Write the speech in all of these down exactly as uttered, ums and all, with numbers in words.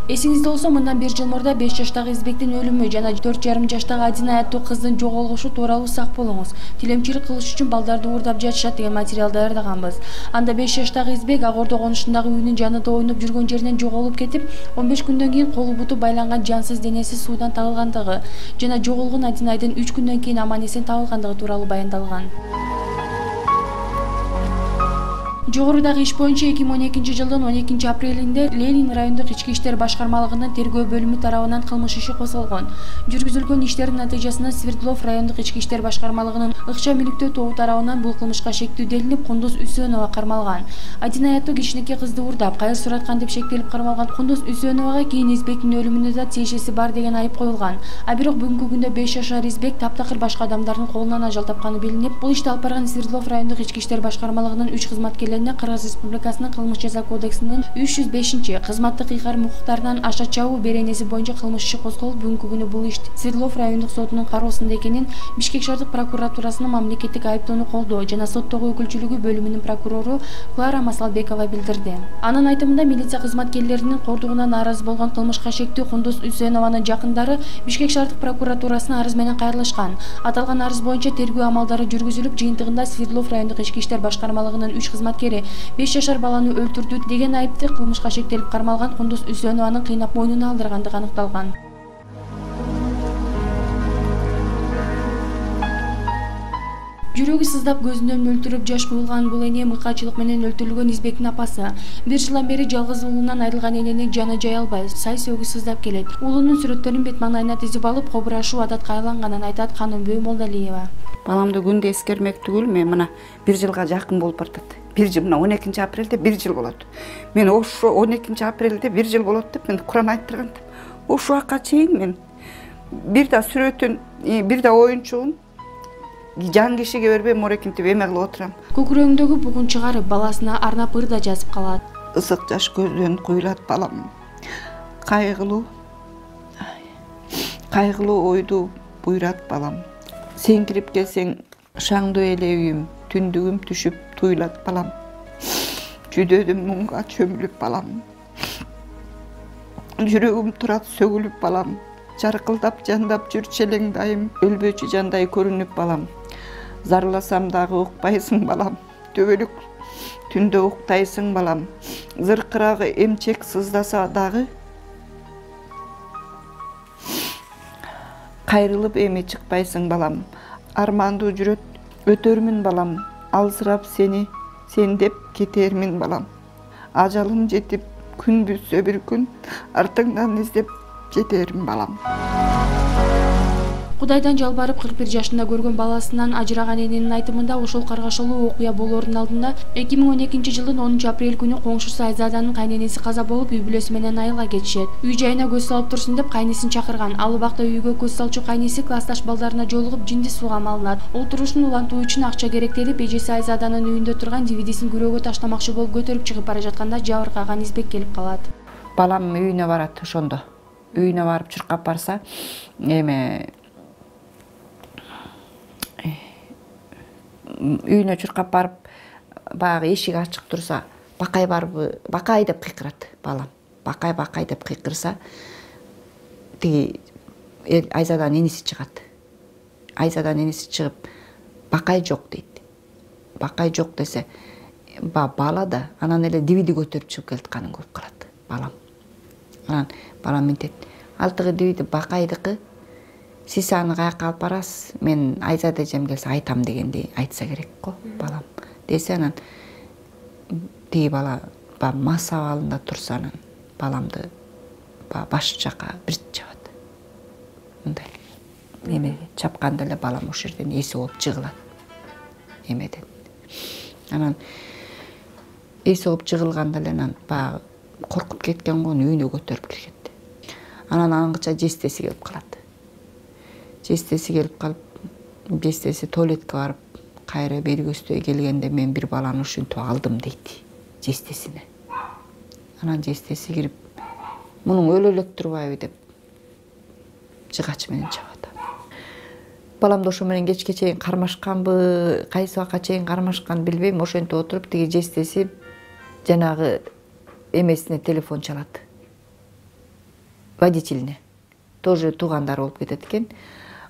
Эсиңизде болсо, мындан бир жыл мурда беш жаштагы Избектин өлүмү жана төрт жарым жаштагы Адина аттуу кыздын жоголушу тууралуу сак болуңуз. Тилемчилик кылыш үчүн балдарды уурдап жатышат деген материал даярдаганбыз. Анда беш жаштагы Избек Ак Ордо конушундагы үйүнүн жанында ойноп жүргөн жеринен жоголуп кетип, он беш күндөн кийин колу буту байланган жансыз денеси суудан табылгандыгы жана жоголгон Адинайдын үч күндөн кийин аман эсен табылгандыгы тууралуу баяндалган. Жогорудагы иш боюнча эки миң он экинчи жылдын он экинчи апрелинде Ленин райондук ички иштер башкармалыгынын тергөө бөлүмү тарабынан кылмыш иши козголгон. Жүргүзүлгөн иштердин натыйжасында Свердлов райондук ички иштер башкармалыгынын ыкча мүлүктөө тобу тарабынан бул кылмышка шектүү делинип, Кундуз Үсөнова кармалган. Адина аттуу кичинекей кызды уурдап, кайыр сураткан деп шектелип кармалган Кундуз Үсөновага кийин Избектин өлүмүнө да тиешеси бар деген айып коюлган. А бирок бүгүнкү күндө беш жашар Избек таптакыр башка адамдардын колунан ажал тапканы билинип, бул ишти алып барган Свердлов райондук ички иштер башкармалыгынын үч кызматкерлерине Кыргыз Республикасынын кылмыш жаза кодексинин үч жүз бешинчи кызматтык ыйгарым укуктарынан аша чабуу беренеси боюнча кылмыш иши козголуп, бүгүнкү күнү бул иш Свердлов райондук сотунун кароосунда экенин Бишкек шаардык прокуратурасынын мамлекеттик айыптоону колдоо жана соттогу өкүлчүлүгү бөлүмүнүн прокурору Клара Масалбекова билдирди. Анын айтымында, милиция кызматкерлеринин кордугуна нааразы болгон кылмышка шектүү Кундуз Үсөнованын жакындары Бишкек шаардык прокуратурасына арыз менен кайрылышкан. Аталган арыз боюнча тергөө амалдары жүргүзүлүп, жыйынтыгында Свердлов райондук ички иштер башкармалыгынын үч кызматкери беш жашар баланы өлтүрдү деген айыпты кылмышка шектелип кармалган Кундуз Үсөнованын кыйнап мойнуна алдыргандыгы аныкталган. Жүрөгү сыздап көзүнөн мөлтүрөп жаш куюлган бул эне мыкаачылык менен өлтүрүлгөн Избектин апасы. Бир жылдан бери жалгыз уулунан айрылган эненин жаны жай албай, сай сөгү сыздап келет. Уулунун сүрөттөрүн бет маңдайына тизип алып, кобурашуу адатка айланганын айтат Канымбөө Молдалиева. Баламды күндө эскермек түгүл, мен мына бир жылга жакын болуп бартат. Бир жыл, мына он экинчи апрелде бир жыл болот. Мен ошо он экинчи апрелде бир жыл болот деп мен Куран айттырган. Ошо убакка чейин мен бир да сүрөтүн, бир да оюнчугун жан кишиге бербей морекинтип эме кылып отурам. Көкүрөгүндөгү бугун чыгарып, баласына арнап ыр да жазып калат. Ысык жаш көздөн куюлат балам. Кайгылуу, кайгылуу ойду буйрат балам. Сен кирип келсең, шаңдуу эле үйүм, түндүгүм түшүп туйлат балам. Жүдөдүм муңга чөмүлүп балам. Жүрөгүм турат сөгүлүп балам. Жаркылдап жандап жүр челең дайым, өлбөчү жандай көрүнүп балам. Зарласам дагы укпайсың балам. Төбөлүк түндө уктайсың балам. Зыркырагы эмчек сыздаса дагы кайрылып эми чыкпайсың балам. Армандуу жүрөт өтөрмүн балам. Алсырап сени, сен деп кетермин балам. Ажалым жетип күн бүтсө бир күн, артыңдан издеп жетерим балам. Кудайдан жалбарып кырк бир жашында көргөн баласынан ажыраган эненин айтымында, ошол каргашалуу окуя болоордун алдында эки миң он экинчи жылдын онунчу апрель күнү коңшусу Айзаданын кайненеси каза болуп, үй бүлөсү менен айылга кетишет. Үй жайына көз салып турсун деп кайнесин чакырган. Ал убакта үйгө көз салчу кайнеси классташ балдарына жолугуп жинди сууга малынат. Ол турушун улантуу үчүн акча керектелип, эжеси Айзаданын үйүндө турган ди ви дисин күрөөгө таштамакчы болуп көтөрүп чыгып бара жатканда жабыркаган Избек келип калат. Балам үйүнө барат ошондо. Үйүнө барып чуркап барса, эме үйүнө чуркап барып, баягы эшик ачык турса, бакай барбы, бакай деп кыйкырат балам. Бакай, бакай деп кыйкырса, тиги Айзаданын эниси чыгат. Айзаданын эниси чыгып, бакай жок дейт. Бакай жок десе, бала да анан эле ди ви ди көтөрүп чыгып келатканын көрүп калат балам. Анан балам мынтет, алтыгы ди ви ди бакайдыкы, сиз аны каяка алып барасыз, мен Айзада эжем келсе айтам дегенди айтса керек го балам. Десе анан тиги бала мас абалында турса, анан баламды баш жака бир чабат. Мындай эме чапканда эле балам ошол жерден эси болуп жыгылат. Эмеден. Анан эси болуп жыгылганда эле анан баягы коркуп кеткен го, үйүнө көтөрүп киргет. Анан аңгыча жестеси келип калат. Жестеси келип калып, жестеси туалетке барып, кайра бери көздөй келгенде мен бир баланы ушинтип алдым дейт жестесине. Анан жестеси кирип, мунун өлө элек турбайбы деп жыгач менен чабат. Баламды ошо менен кечке чейин кармашканбы, кайсы убакка чейин кармашканын билбейм, ошентип отуруп тиги жестеси жанагы эмесине телефон чалат. водительине тоже туугандары болуп кетет экен.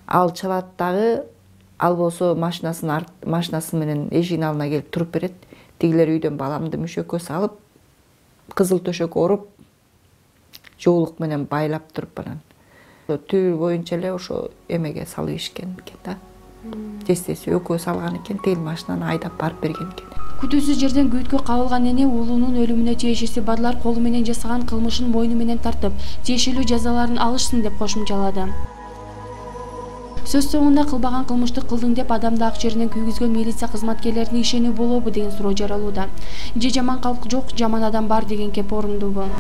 Ал чалат дагы, ал болсо машинасын машинасы менен эшигин алдына келип туруп берет. Тигилер үйдөн баламды мөшөккө салып, кызыл төшөк оруп, жоолук менен байлап туруп анан түбү боюнча эле ошо эмеге салып ишкен экен да. Тестеси экөө салган экен, тил машинаны айдап барып берген экен. Күтүүсүз жерден күйүткө кабылган эне уулунун өлүмүнө тиешеси бадылар колу менен жасаган кылмышын мойну менен тартып, тиешелүү жазаларын алышсын деп кошумчалады. Сөз соңунда кылбаган кылмышты кылдың деп адамды ак жеринен күйгүзгөн милиция кызматкерлерине ишенүү болобу деген суроо жаралууда. Же жаман калк жок, жаман адам бар деген кеп орундуубу?